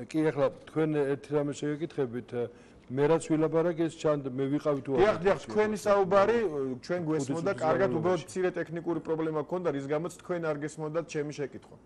კი, ახლა თქვენ ერთ რამეს შეგეკითხებით მე რაც ვილაპარაკ ეს ჩანდა მე ვიყავი თუ არა. დიახ, დიახ, თქვენი საუბარი ჩვენ გვესმოდა, კარგად უბრალოდ მცირე ტექნიკური პრობლემა გქონდა, რის გამოც თქვენ არ გესმოდათ ჩემი შეკითხვა.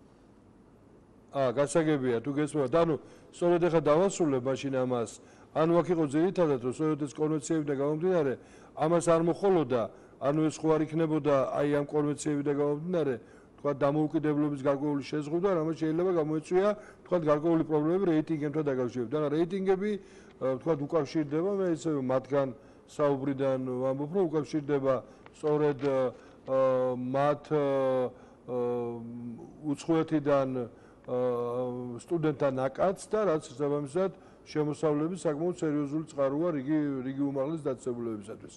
აა, გასაგებია, თუ გესმოდათ, ანუ სწორედ ახლა დავასრულებ მაშინ ამას. ანუ აქ იყო ძირითადად რომ სწორედ ეს კონვენციებიდან გამომდინარე, ამას არ მოხოლოდა, ანუ ეს ხო არ იქნებოდა აი ამ კონვენციებიდან გამომდინარე, თქვა დამოუკიდებლობის გარკვეული შეზღუდვა, რამაც შეიძლება გამოეწვია, თქვა გარკვეული პრობლემები რეიტინგებთან დაკავშირებით. და რეიტინგები თქვათ უკავშირდება მე ისე მათგან საუბრიდან ვამბობ რომ უკავშირდება სწორედ მათ უცხოეთიდან სტუდენტთა ნაკადს და რაც შესაბამისად შემოსავლების საკმაოდ სერიოზული წყაროა რიგი რიგი უმაღლეს დაწესებულებებისათვის.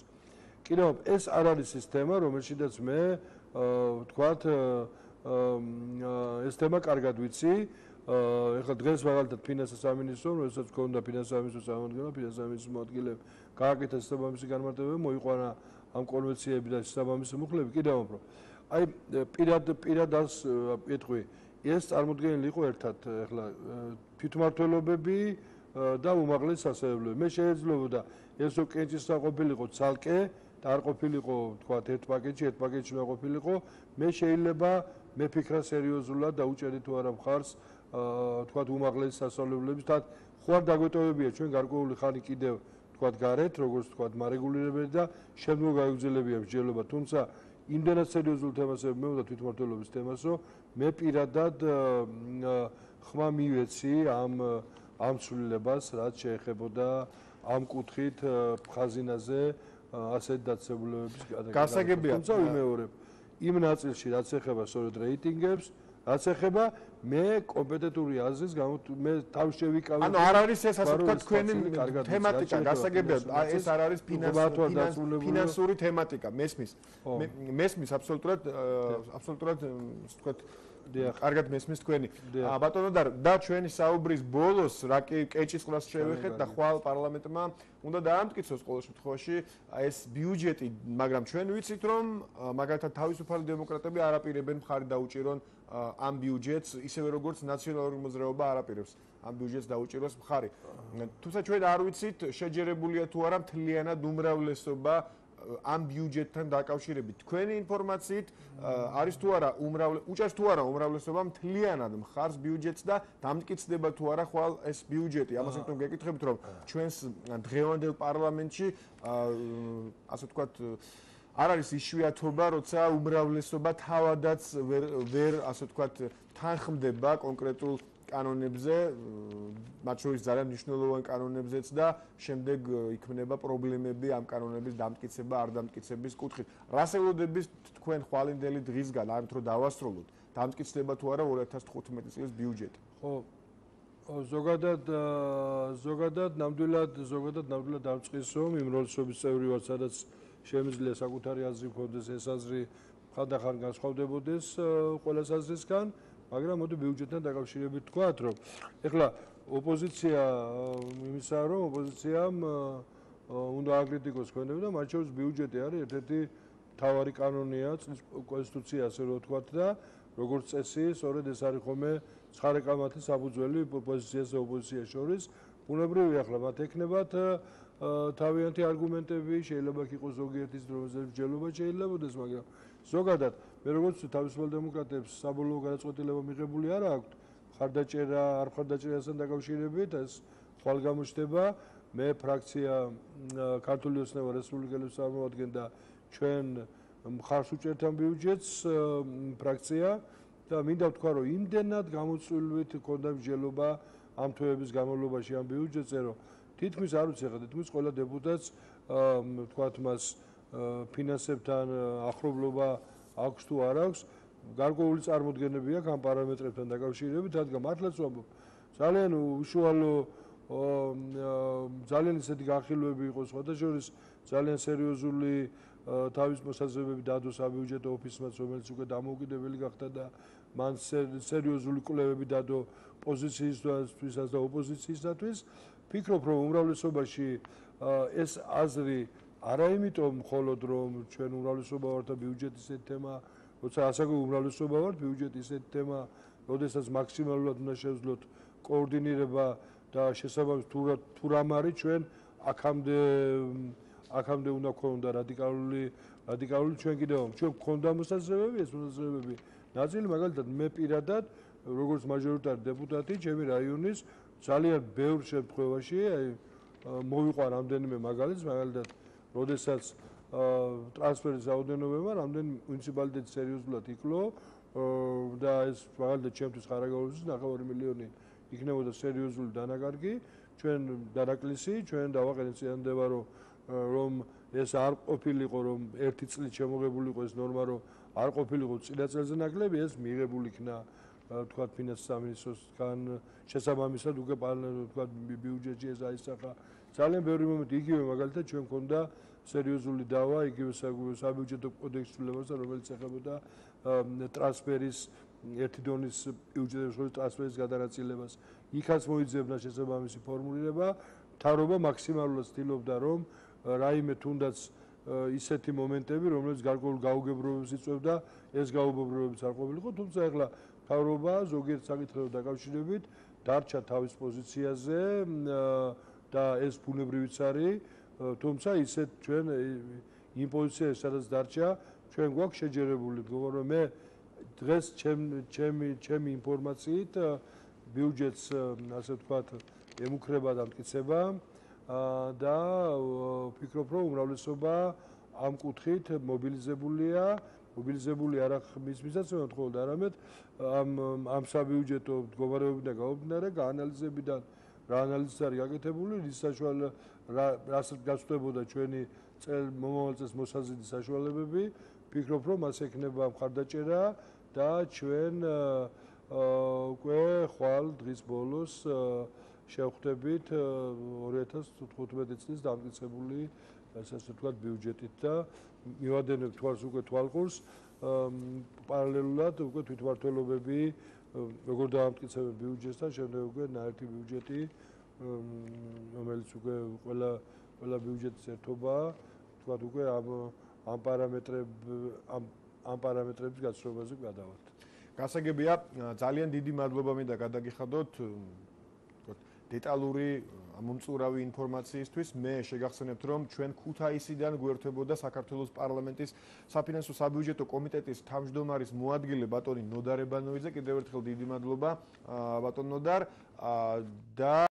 კიდევ ეს არ არის სისტემა რომელშიც მე ვთქვათ ეს თემა კარგად ვიცი. ეხლა დღეს მაგალითად ფინანსის სამინისტრო, როდესაც გქონდა ფინანსის სამინისტრო სამომადგენლო, ფინანსის სამინისტრო მოადგილეები გააკეთა შესაბამისი განმარტებები, მოიყვანა ამ კონვენციები და შესაბამისი მუხლები, კიდევ უფრო. აი პირად პირად ას ეტყვი, ეს წარმოდგენილი იყო ერთად, ეხლა თვითმმართველობები და უმაღლეს სასწავლებლები. მე შეიძლება ეს კენჭისყრა ყოფილიყო ცალკე და არ ყოფილიყო, თქვათ, ერთ პაკეტში, ერთ პაკეტში უნდა ყოფილიყო, მე შეიძლება მე ფიქრა სერიოზულად დაუჭერდი თუ არა მხარს თქვათ უმაღლეს სასწავლებლების და ხო არ დაგვეტოვებია ჩვენ გარკვეული ხანი კიდევ თქვათ გარეთ როგორც თქვათ მარეგულირებელი და შემდგომ გაიგრძელებია მსჯელობა თუმცა იმდენად სერიოზულ თემას მეუბნა თვითმმართველობის თემას რომ მე პირადად ხმა მივეცი ამ ამ ცვლილებას რაც შეეხებოდა ამ კუთხით ხაზინაზე ასეთ დაწესებულებების გადაგება გასაგებია თუმცა ვიმეორებ იმ ნაწილში რაც ეხება სწორედ რეიტინგებს რაც ეხება მე კომპეტენტური აზრის გამო მე თავი შევიკავე ანუ არ არის ეს ასე ვთქვათ თქვენი თემატიკა გასაგებია ეს არ არის ფინანსური თემატიკა მესმის მესმის აბსოლუტურად აბსოლუტურად ვთქვათ კარგად მესმის თქვენი ბატონო და ჩვენი საუბრის ბოლოს რა კი კეჭისყრას შევეხეთ და ხვალ პარლამენტმა უნდა დაამტკიცოს ყოველ შემთხვევაში ეს ბიუჯეტი მაგრამ ჩვენ ვიცით რომ მაგალითად თავისუფალი დემოკრატები არ აპირებენ მხარი დაუჭირონ ამ ბიუჯეტს ისევე როგორც ნაციონალური მოძრაობა არ აპირებს ამ ბიუჯეტს დაუჭიროს მხარი თუმცა ჩვენ არ ვიცით შეჯერებულია თუ არა მთლიანად უმრავლესობა ამ ბიუჯეტთან დაკავშირებით თქვენი ინფორმაციით არის თუ არა უმრავლე უჭერს თუ არა უმრავლესობა მთლიანად მხარს ბიუჯეტს და დამტკიცდება თუ არა ხვალ ეს ბიუჯეტი ამას იმიტომ გეკითხებით რომ ჩვენს დღევანდელ პარლამენტში ასე ვთქვათ არ არის იშვიათობა როცა უმრავლესობა თავადაც ვერ ვერ ასე ვთქვათ თანხმდება კონკრეტულ კანონებზე მათ შორის ძალიან მნიშვნელოვან კანონებზეც და შემდეგ იქმნება პრობლემები ამ კანონების დამტკიცება არ დამტკიცების კუთხით. რას ელოდებით თქვენ ხვალინდელი დღისგან ამით რომ დავასრულოთ დამტკიცდება თუ არა ორი ათას თხუთმეტი წლის ბიუჯეტი? ხო ზოგადად ზოგადად ნამდვილად ზოგადად ნამდვილად დავწყის რომ იმ როლშობის წევრი ვარ სადაც შემიძლია საკუთარი აზრი მქონდეს ეს აზრი ხანდახან განსხვავდებოდეს ყველა აზრისგან მაგრამ მოდი ბიუჯეტთან დაკავშირებით თქვათ რომ ეხლა ოპოზიცია იმისაა რომ ოპოზიციამ უნდა აკრიტიკოს ქვეყნები და მათ შორის ბიუჯეტი არის ერთ-ერთი მთავარი კანონია წლის კონსტიტუცია ასე რომ ვთქვათ და როგორც წესი, სწორედ ეს არის ხოლმე ცხარე კამათის საფუძველი პოზიციასა და ოპოზიციას შორის. ბუნებრივია ახლა მათ ექნებათ თავიანთი არგუმენტები, შეიძლება იყოს ზოგიერთის დროზე მსჯელობა შეიძლებაოდეს, მაგრამ ზოგადად მე როგორც თავისუფალ დემოკრატებს საბოლოო გადაწყვეტილება მიღებული არ აქვს, ხარდაჭერა, არ ხარდაჭერასთან დაკავშირებით ეს ხვალ გამოჩნდება. მე ფრაქცია ქართული ოცნება რესპუბლიკელებს წარმოადგენ და ჩვენ მხარს უჭერთ ამ ბიუჯეტს ფრაქცია და მინდა ვთქვა რომ იმდენად გამოწვეულით ქონდა მსჯელობა ამ თვეების განმავლობაში ამ ბიუჯეტზე რომ თითქმის არ ვიცი ხა თითქმის ყველა დეპუტატს ვთქვათ მას ფინანსებთან ახლობლობა აქვს თუ არ აქვს გარკვეული წარმოდგენები აქვს ამ პარამეტრებთან დაკავშირებით რადგან მართლაც ვამბობ ძალიან უშუალო ძალიან ისეთი განხილვები იყო სხვადასხვა ძალიან სერიოზული თავის მოსაზრებები დადო საბიუჯეტო ოფისმაც რომელიც უკვე დამოუკიდებელი გახდა და მან სერიოზული კვლევები დადო პოზიციისთვისაც და ოპოზიციისთვისაც ფიქრობ რომ უმრავლესობაში ეს აზრი არა იმიტომ მხოლოდ რომ ჩვენ უმრავლესობა ვართ და ბიუჯეტის ეს თემა როცა ასაკო უმრავლესობა ვართ ბიუჯეტის ეს თემა როდესაც მაქსიმალურად უნდა შევძლოთ კოორდინირება და შესაბამის თუ რამ არის ჩვენ აქამდე აქამდე უნდა ქონდა რადიკალური რადიკალური ჩვენ კიდევ ჩვენ გქონდა მოსაზრებები ეს მოსაზრებები ნაწილი მაგალითად მე პირადად როგორც მაჟორიტარი დეპუტატი ჩემი რაიონის ძალიან ბევრ შემთხვევაში აი მოვიყვა რამდენიმე მაგალითს მაგალითად როდესაც ტრანსფერის რაოდენობებმა რამდენი მუნიციპალიტეტი სერიოზულად იკლო და ეს მაგალითად ჩემთვის ხარაგაულის ნახევარი მილიონი იქნებოდა სერიოზული დანაკარგი ჩვენ დანაკლისი ჩვენ დავაყენეთ წინანდება რომ რომ ეს არ ყოფილიყო რომ ერთი წლით შემოღებულიყო ეს ნორმა რომ არ ყოფილიყო წინა წელზე ნაკლები ეს მიღებული იქნა თქვათ ფინანსის სამინისტროსგან შესაბამისად უკვე თქვათ ბიუჯეტში ეს აისახა ძალიან ბევრი მომენტი იგივე მაგალითად ჩვენ გქონდა სერიოზული დავა იგივე საბიუჯეტო კოდექსის ცვლილებასთან რომელიც ეხებოდა ტრანსფერის ერთი დონის ბიუჯეტის შორის ტრანსფერის გადანაწილებას იქაც მოიძებნა შესაბამისი ფორმულირება მთავრობა მაქსიმალურად ცდილობდა რომ რაიმე თუნდაც ისეთი მომენტები რომელიც გარკვეულ გაუგებრობებს იწვევდა ეს გაუგებრობებიც არ ყოფილიყო თუმცა ეხლა მთავრობა ზოგიერთ საკითხებთან დაკავშირებით დარჩა თავის პოზიციაზე და ეს ბუნებრივიც არის თუმცა ისეთ ჩვენ იმ პოზიციაზე სადაც დარჩა ჩვენ გვაქვს შეჯერებული მგონი რომ მე დღეს ჩემი ჩემი ინფორმაციით ბიუჯეტს ასე ვთქვათ ემუქრება და მტკიცება და ვფიქრობ რომ უმრავლესობა ამ კუთხით მობილიზებულია მობილიზებული არა მის მიზანს მხოლოდ არამედ ამ ამ საბიუჯეტო მდგომარეობიდან გამომდინარე გაანალიზებიდან რა ანალიზი არის გაკეთებული რის საშუალო რასაც გასწრებოდა ჩვენი წელ მომავალ წელს მოსაზრების საშუალებები ვფიქრობ რომ მას ექნება მხარდაჭერა და ჩვენ უკვე ხვალ დღის ბოლოს შევხვდებით ორი ათას თხუთმეტი წლის დამტკიცებული ასე ვთქვათ ბიუჯეტით და მივადენებ თვალს უკვე თვალყურს პარალელურად უკვე თვითმმართველობები როგორ დაამტკიცებენ ბიუჯეტსთან შემდეგ უკვე ნაერთი ბიუჯეტი რომელიც უკვე ყველა ყველა ბიუჯეტის ერთობაა ვთქვათ უკვე ამ ამ პარამეტრებ ამ ამ პარამეტრების გაცნობაზე გადავართ. გასაგებია ძალიან დიდი მადლობა მინდა გადაგიხადოთ დეტალური მომწურავი ინფორმაციისთვის მე შეგახსენებთ რომ ჩვენ ქუთაისიდან გვერდებოდა საქართველოს პარლამენტის საფინანსო საბიუჯეტო კომიტეტის თავმჯდომარის მოადგილე ბატონი ნოდარ ებანოიძე კიდევ ერთხელ დიდი მადლობა ბატონ ნოდარ და